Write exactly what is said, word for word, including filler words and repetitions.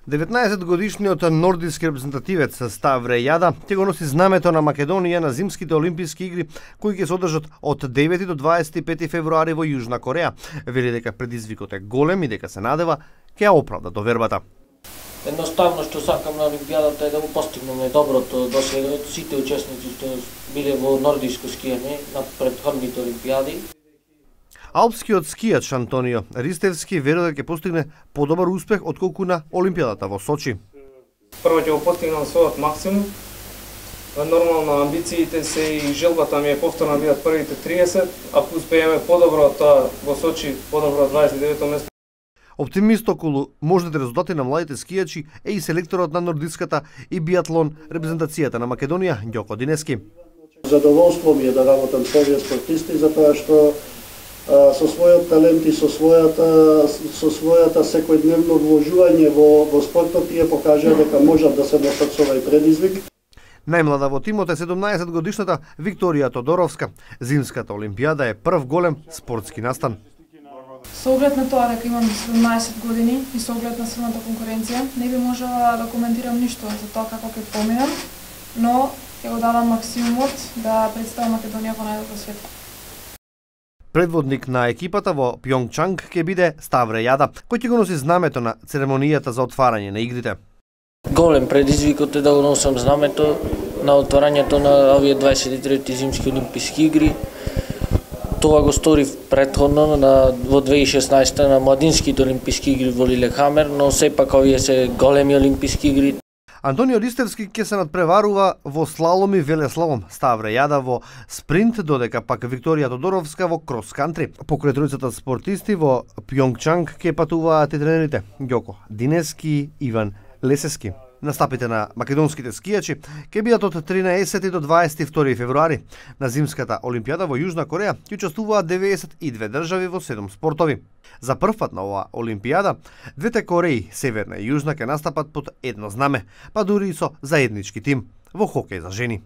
деветнаесет годишниот нордиски репрезентативец Ставре Јада ќе го носи знамето на Македонија на зимските олимписки игри кои ќе се одржат од девети до дваесет и пети февруари во Јужна Кореја. Вели дека предизвикот е голем и дека се надева ќе ја оправда довербата. Едноставно што сакам на Олимпијадата е да го постигнеме доброто до сега од сите учесници што биле во нордиско скијање на претходните олимпијади. Алпскиот скијач Антонио Ристевски верува дека ќе постигне подобар успех отколку на Олимпијадата во Сочи. Прво ќе го постигнам својот максимум. Нормално амбициите се и желбата ми е повторно бидат првите триесет, ако успееме подобро тоа во Сочи, подобро дваесет и девето место. Оптимист околу можните резултати на младите скијачи е и селекторот на нордиската и биатлон репрезентацијата на Македонија Ѓоко Динески. Задоволство ми е да работам со овие спортисти затоа што а, со својот талент и со својата со својата секојдневно вложување во во спортот тие покажаа дека можат да се носат со овој предизвик. Најмлада во тимот е седумнаесет годишната Викторија Тодоровска. Зимската олимпијада е прв голем спортски настан. Со оглед на тоа дека имам седумнаесет години и со оглед на силната конкуренција, не би можела да коментирам ништо за тоа како ќе поминам, но ќе го давам максимумот да представам Македонија во најдобро светло. Предводник на екипата во Пјонгчанг ќе биде Ставре Јада, кој ќе го носи знамето на церемонијата за отварање на игрите. Голем предизвикот е да го носам знамето на отварањето на овие дваесет и трети зимски олимписки игри. Тоа го сторив претходно на во две илјади и шеснаесета на младинските олимписки игри во Лилехамер, но сепак овие се големи олимписки игри. Антонио Ристевски ќе се надпреварува во слалом и велеслалом, Ставре Јада во спринт, додека пак Викторија Тодоровска во крос-кантри. Покрај тројцата спортисти во Пјонгчанг ќе патуваат и тренерите Ѓоко Динески, Иван Лесески. Настапите на македонските скијачи ќе бидат од тринаесети до дваесет и втори февруари. На зимската олимпијада во Јужна Кореја ќе учествуваат деветдесет и две држави во седум спортови. За прв пат на оваа олимпијада, двете Кореи, Северна и Јужна, ќе настапат под едно знаме, па дури и со заеднички тим во хокеј за жени.